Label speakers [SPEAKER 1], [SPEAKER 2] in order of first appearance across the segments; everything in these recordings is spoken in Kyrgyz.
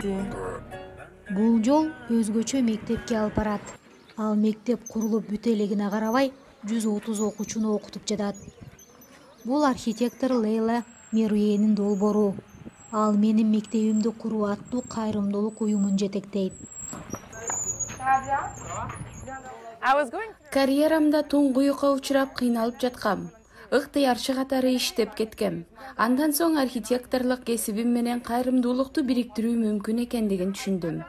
[SPEAKER 1] болчу.
[SPEAKER 2] Бул жол өзгөчө мектепке алып барат. Ал мектеп курулуп бүтө элегине карабай 130 окуучуну окутуп жатат. Бул архитектор Лейла Меруенин долбоору. Ал менин мектебимди куруу аттуу кайрымдуулук уюмун жетектейт.
[SPEAKER 1] Карьерамда туңгуюкка учурап кыйналып жаткам. Ыктыярчы катары иштеп кеткем. Андан соң архитекторлук кесибим менен кайрымдуулукту бириктирүү мүмкүн экендигин түшүндүм.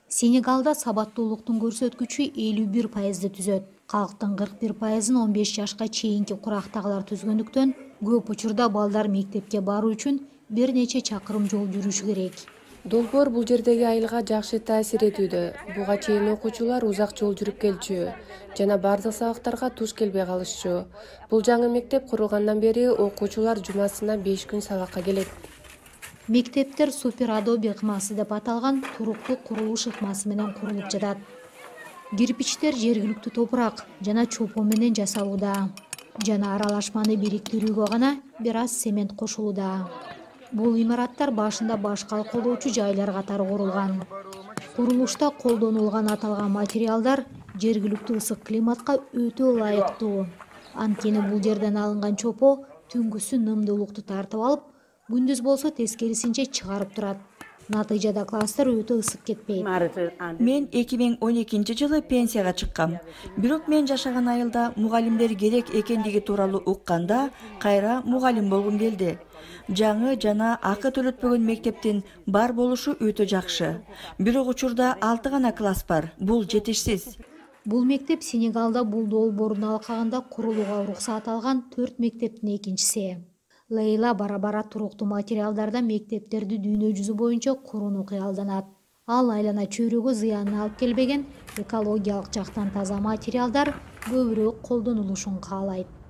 [SPEAKER 2] Сенегалда сабаттуулуктун көрсөткүчү 51%ды түзөт. Калктын 41%-ын 15 жашка чейинки курактагылар түзгөндүктөн көп учурда балдар мектепке баруу үчүн бир нече чакырым жол жүрүшү керек.
[SPEAKER 1] Долбоор бул жердеги айылга жакшы таасир этүүдө. Буга чейин окуучулар узак жол жүрүп келчү жана бардык сабактарга туш келбей калышчу. Бул жаңы мектеп курулгандан бери окуучулар жумасына 5 күн сабакка келет.
[SPEAKER 2] Мектептер суперадоби ыкмасы деп аталган туруктуу курулуш ыкмасы менен курулуп жатат. Кирпичтер жергиликтүү топурак жана чопон менен жасалууда. Жана аралашманы бириктирүүгө гана бир аз цемент кошулууда. Бул имараттар башында баш калкалоочу жайлар катары курулган. Курулушта колдонулган аталган материалдар жергиликтүү ысык климатка өтө ылайыктуу. Анткени бул жерден алынган чопо түнгүсүн нымдуулукту тартып алып, күндүз болсо тескерисинче чыгарып турат. Натыйжада класстар өтө ысык кетпейт.
[SPEAKER 3] Мен 2012-жылы пенсияга чыккам. Бирок мен жашаган айылда мугалимдер керек экендиги тууралуу укканда кайра мугалим болгум келди. Жаңы жана акы төлөтпөгөн мектептин бар болушу өтө жакшы. Бирок учурда 6 гана класс бар. Бул жетишсиз.
[SPEAKER 2] Бул мектеп Сенегалда бул долбоордун алкагында курулууга уруксат алган 4 мектептин экинчиси. Лейла бара-бара туруктуу материалдардан мектептерди дүйнө жүзү боюнча курууну кыялданат. Ал айлана чөйрөгө зыянын алып келбеген экологиялык жактан таза материалдар көбүрөөк колдонулушун каалайт.